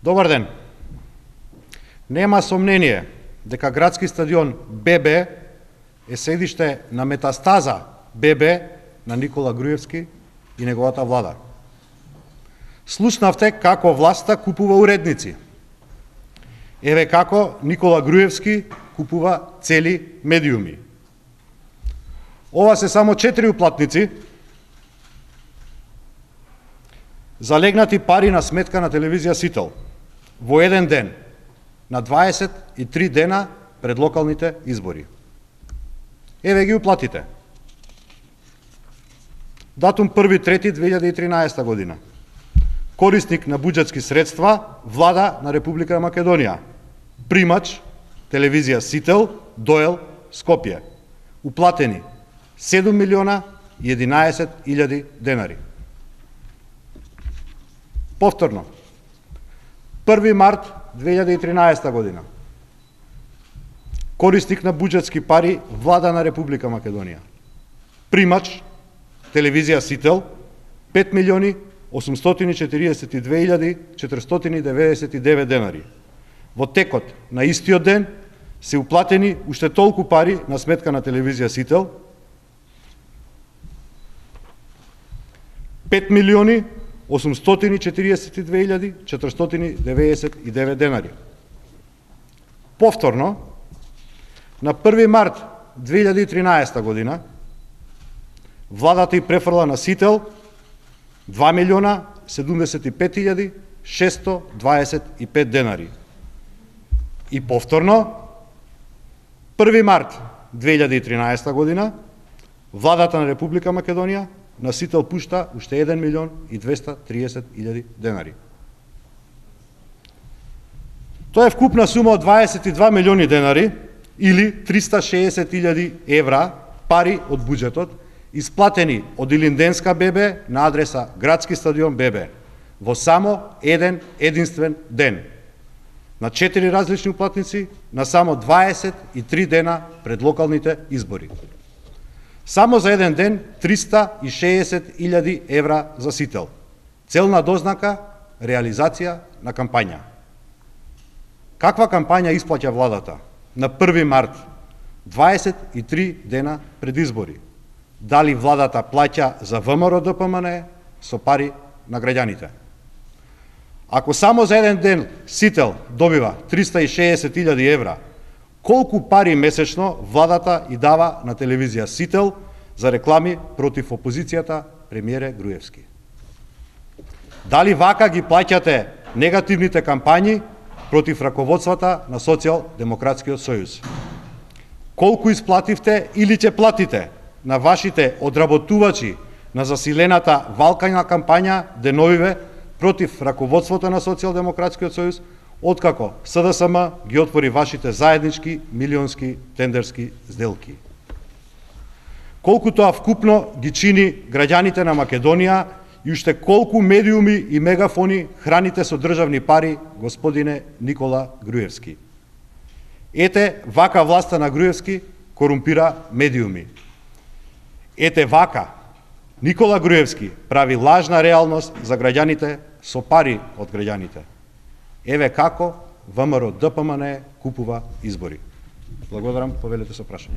Добар ден. Нема сомнение дека градски стадион ББ е седиште на метастаза ББ на Никола Груевски и неговата влада. Слушнавте како власта купува уредници. Еве како Никола Груевски купува цели медиуми. Ова се само 4 уплатници, залегнати пари на сметка на телевизија Сител во еден ден, на 23 дена пред локалните избори. Еве ги уплатите. Датум 1.3.2013 година. Корисник на буџетски средства, Влада на Република Македонија. Примач, телевизија Сител, Доел, Скопје. Уплатени 7.011.000 денари. Повторно, 1. март 2013 година. Корисник на буџетски пари, Влада на Република Македонија. Примач, телевизија Сител, 5.842.499 денари. Во текот на истиот ден се уплатени уште толку пари на сметка на телевизија Сител, 5.842.499 денари. Повторно, на 1. март 2013 година, владата и префрла на Сител 2.075.625 денари. И повторно, 1. март 2013 година, владата на Република Македонија на Сител пушта уште 1.230.000 денари. Тоа е вкупна сума од 22 милиони денари или 360.000 евра пари од буџетот, исплатени од Илинденска ББ на адреса Градски стадион ББ во само еден единствен ден, на 4 различни уплатници, на само 23 дена пред локалните избори. Само за еден ден 360.000 евра за Сител. Целна дознака, реализација на кампања. Каква кампања исплаќа владата на 1. март, 23 дена пред избори? Дали владата плаќа за ВМРО ДПМН со пари на граѓаните? Ако само за еден ден Сител добива 360.000 евра, колку пари месечно владата и дава на телевизија Сител за реклами против опозицијата премиере Груевски? Дали вака ги плаќате негативните кампањи против раководствата на Социјалдемократскиот сојуз? Колку исплативте или ќе платите на вашите одработувачи на засилената валкања кампања деновиве против раководството на Социјалдемократскиот сојуз, откако СДСМ ги отвори вашите заеднички милионски тендерски сделки? Колку тоа вкупно ги чини граѓаните на Македонија и уште колку медиуми и мегафони храните со државни пари, господине Никола Груевски? Ете вака власта на Груевски корумпира медиуми. Ете вака Никола Груевски прави лажна реалност за граѓаните со пари од граѓаните. Еве како ВМРО ДПМН купува избори. Благодарам, повелете со прашање.